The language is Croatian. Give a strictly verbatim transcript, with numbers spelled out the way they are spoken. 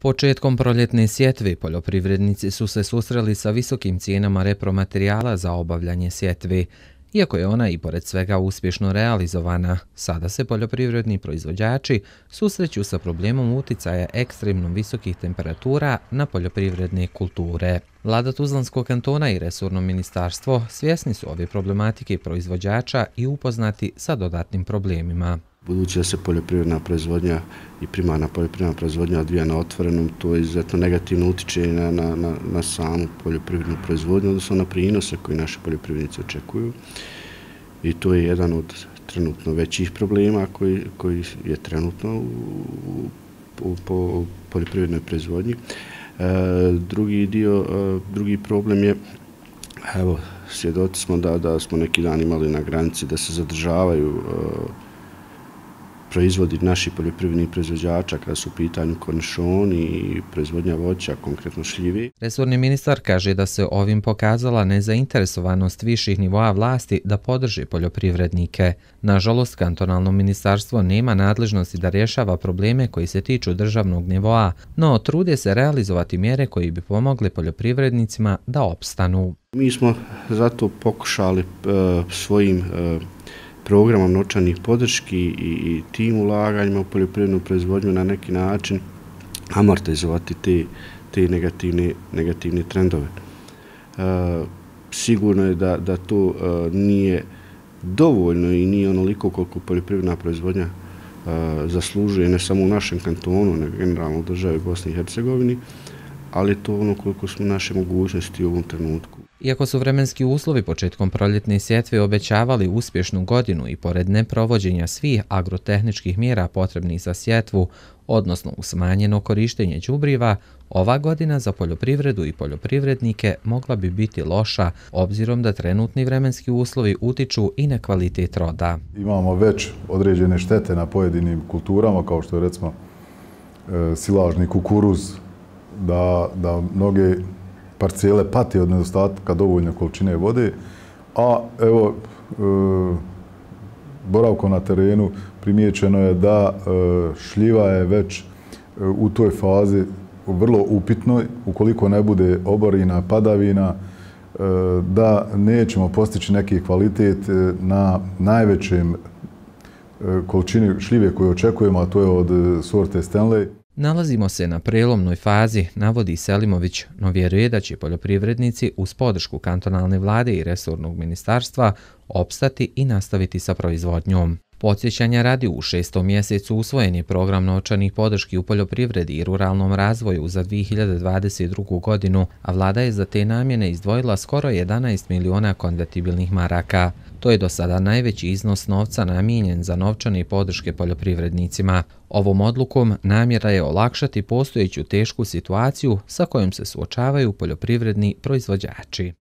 Početkom proljetne sjetve poljoprivrednici su se susreli sa visokim cijenama repromaterijala za obavljanje sjetve. Iako je ona i pored svega uspješno realizovana, sada se poljoprivredni proizvođači susreću sa problemom uticaja ekstremno visokih temperatura na poljoprivredne kulture. Vlada Tuzlanskog kantona i resorno ministarstvo svjesni su ove problematike proizvođača i upoznati sa dodatnim problemima. Budući da se poljoprivredna proizvodnja i primarna poljoprivredna proizvodnja odvija na otvorenom, to izuzetno negativno utiče na, na, na, na samu poljoprivrednu proizvodnju, odnosno na prinose koje naši poljoprivrednici očekuju. I to je jedan od trenutno većih problema koji, koji je trenutno u, u, u poljoprivrednoj proizvodnji. E, drugi dio, e, drugi problem je, evo, svjedoci smo da, da smo neki dan imali na granici da se zadržavaju e, proizvodi naših poljoprivrednih proizvođača kada su u pitanju kornišoni i proizvodnja voća, konkretno šljive. Resorni ministar kaže da se ovim pokazala nezainteresovanost viših nivoa vlasti da podrži poljoprivrednike. Nažalost, kantonalno ministarstvo nema nadležnosti da rješava probleme koji se tiču državnog nivoa, no trude se realizovati mjere koji bi pomogle poljoprivrednicima da opstanu. Mi smo zato pokušali uh, svojim uh, programom novčanih podrški i, i tim ulaganjima u poljoprivrednu proizvodnju na neki način amortizovati te, te negativne, negativne trendove. E, sigurno je da, da to e, nije dovoljno i nije onoliko koliko poljoprivredna proizvodnja e, zaslužuje, ne samo u našem kantonu, nego generalno u državi Bosni i Hercegovini, ali to ono koliko smo naše mogućnosti u ovom trenutku. Iako su vremenski uslovi početkom proljetne sjetve obećavali uspješnu godinu i pored neprovođenja svih agrotehničkih mjera potrebnih za sjetvu, odnosno u smanjeno korištenje đubriva, ova godina za poljoprivredu i poljoprivrednike mogla bi biti loša, obzirom da trenutni vremenski uslovi utiču i na kvalitet roda. Imamo već određene štete na pojedinim kulturama, kao što je recimo e, silažni kukuruz, da, da mnoge parcijele pati od nedostatka dovoljne količine vode, a evo, e, boravkom na terenu primijećeno je da e, šljiva je već e, u toj fazi vrlo upitnoj, ukoliko ne bude oborina, padavina, e, da nećemo postići neki kvalitet na najvećem e, količini šljive koju očekujemo, a to je od sorte Stanley. Nalazimo se na prelomnoj fazi, navodi Selimović, no vjeruje da će poljoprivrednici uz podršku kantonalne vlade i resornog ministarstva opstati i nastaviti sa proizvodnjom. Podsjećanja radi, u šestom mjesecu usvojen je program novčanih podrški u poljoprivredi i ruralnom razvoju za dvije hiljade dvadeset drugu. godinu, a vlada je za te namjene izdvojila skoro jedanaest miliona konvertibilnih maraka. To je do sada najveći iznos novca namijenjen za novčane podrške poljoprivrednicima. Ovom odlukom namjera je olakšati postojeću tešku situaciju sa kojom se suočavaju poljoprivredni proizvođači.